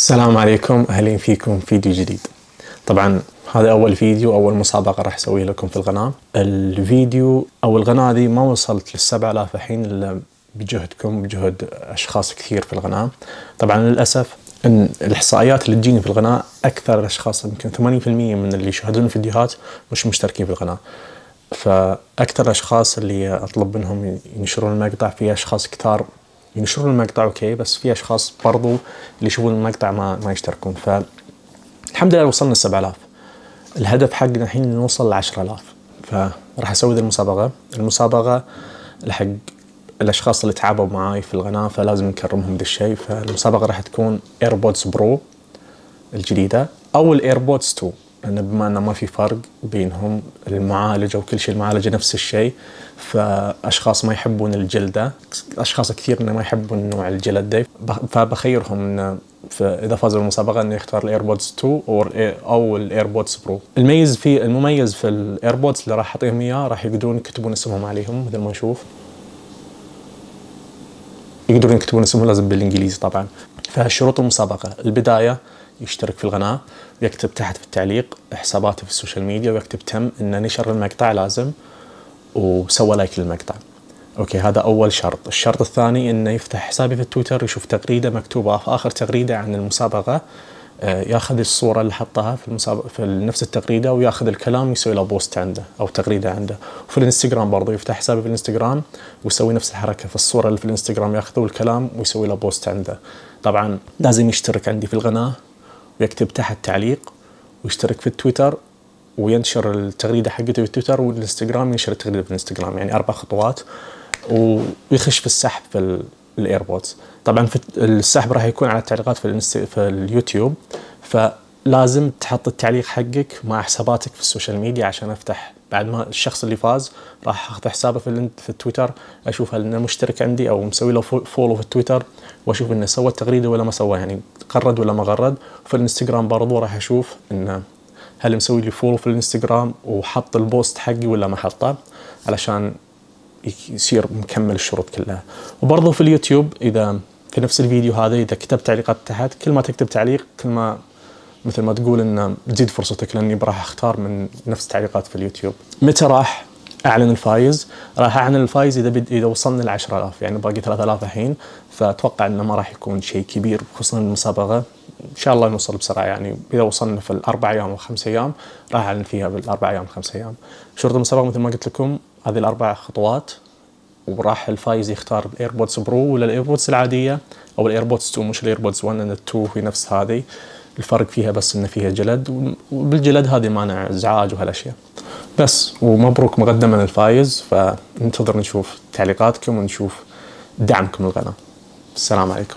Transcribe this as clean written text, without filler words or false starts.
السلام عليكم، أهلين فيكم فيديو جديد. طبعا هذا أول فيديو، أول مسابقة راح أسويها لكم في القناة. الفيديو أو القناة دي ما وصلت لل7000 الحين إلا بجهدكم، بجهد أشخاص كثير في القناة. طبعا للأسف إن الإحصائيات اللي تجيني في القناة أكثر الأشخاص، يمكن 80% من اللي يشاهدون الفيديوهات مش مشتركين في القناة. فأكثر الأشخاص اللي أطلب منهم ينشرون المقطع، في أشخاص كثار ينشرون المقطع اوكي، بس في اشخاص برضو اللي يشوفون المقطع ما يشتركون. فالحمد لله وصلنا ل7000. الهدف حقنا الحين نوصل ل10000. فراح اسوي ذي المسابقة لحق الاشخاص اللي تعبوا معاي في القناة، فلازم نكرمهم ذا الشيء. فالمسابقة راح تكون ايربودز برو الجديدة او الايربودز 2، لأن بما أنه ما في فرق بينهم، المعالج أو كل شيء المعالجة نفس الشيء. فأشخاص ما يحبون الجلدة، أشخاص كثير ما يحبون نوع الجلد ده، فبخيرهم إنه إذا فازوا بالمسابقة إنه يختار الإيربودز 2 أو الإيربودز برو. المميز في الإيربودز اللي راح أعطيهم إياه، راح يقدرون يكتبون اسمهم عليهم مثل ما نشوف، يقدرون يكتبون اسمهم لازم بالإنجليزي طبعا. فشروط المسابقة: البداية يشترك في القناة، ويكتب تحت في التعليق حساباته في السوشيال ميديا، ويكتب تم إنه نشر المقطع لازم وسوى لايك للمقطع. اوكي، هذا اول شرط. الشرط الثاني انه يفتح حسابي في التويتر، يشوف تغريدة مكتوبة في اخر تغريدة عن المسابقة، ياخذ الصورة اللي حطها في المسابقة في نفس التغريدة، وياخذ الكلام ويسوي له بوست عنده او تغريدة عنده. وفي الانستغرام برضه يفتح حسابي في الانستغرام ويسوي نفس الحركة في الصورة اللي في الانستغرام، ياخذوا الكلام ويسوي له بوست عنده. طبعا لازم يشترك عندي في القناة ويكتب تحت تعليق، ويشترك في التويتر، وينشر التغريدة حقته في التويتر، والانستغرام ينشر التغريدة في الانستغرام. يعني 4 خطوات، ويخش في السحب في الايربودز. طبعا في السحب راح يكون على التعليقات في اليوتيوب، فلازم تحط التعليق حقك مع حساباتك في السوشيال ميديا عشان افتح. بعد ما الشخص اللي فاز راح اخذ حسابه في التويتر، اشوف هل انه مشترك عندي او مسوي له فولو في التويتر، واشوف انه سوى التغريده ولا ما سوى، يعني غرد ولا ما غرد. وفي الانستغرام برضو راح اشوف انه هل مسوي لي فولو في الانستغرام وحط البوست حقي ولا ما حطه، علشان يصير مكمل الشروط كلها. وبرضو في اليوتيوب، اذا في نفس الفيديو هذا اذا كتبت تعليقات تحت، كل ما تكتب تعليق كل ما مثل ما تقول انه تزيد فرصتك، لاني راح اختار من نفس التعليقات في اليوتيوب. متى راح اعلن الفايز؟ راح اعلن الفايز اذا وصلنا ل10000، يعني باقي 3000 الحين. فاتوقع انه ما راح يكون شيء كبير، خصوصا المسابقه ان شاء الله نوصل بسرعه. يعني اذا وصلنا في ال4 ايام و5 ايام راح اعلن فيها بال4 ايام و5 ايام. شروط المسابقه مثل ما قلت لكم هذه ال4 خطوات، وراح الفايز يختار الايربودز برو ولا الايربودز العاديه او الايربودز 2، مش الايربودز 1، لان ال2 هي نفس هذه. الفرق فيها بس ان فيها جلد، وبالجلد هذه مانع ازعاج وهالاشياء بس. ومبروك مقدما للفايز، فننتظر نشوف تعليقاتكم ونشوف دعمكم للقناه. السلام عليكم.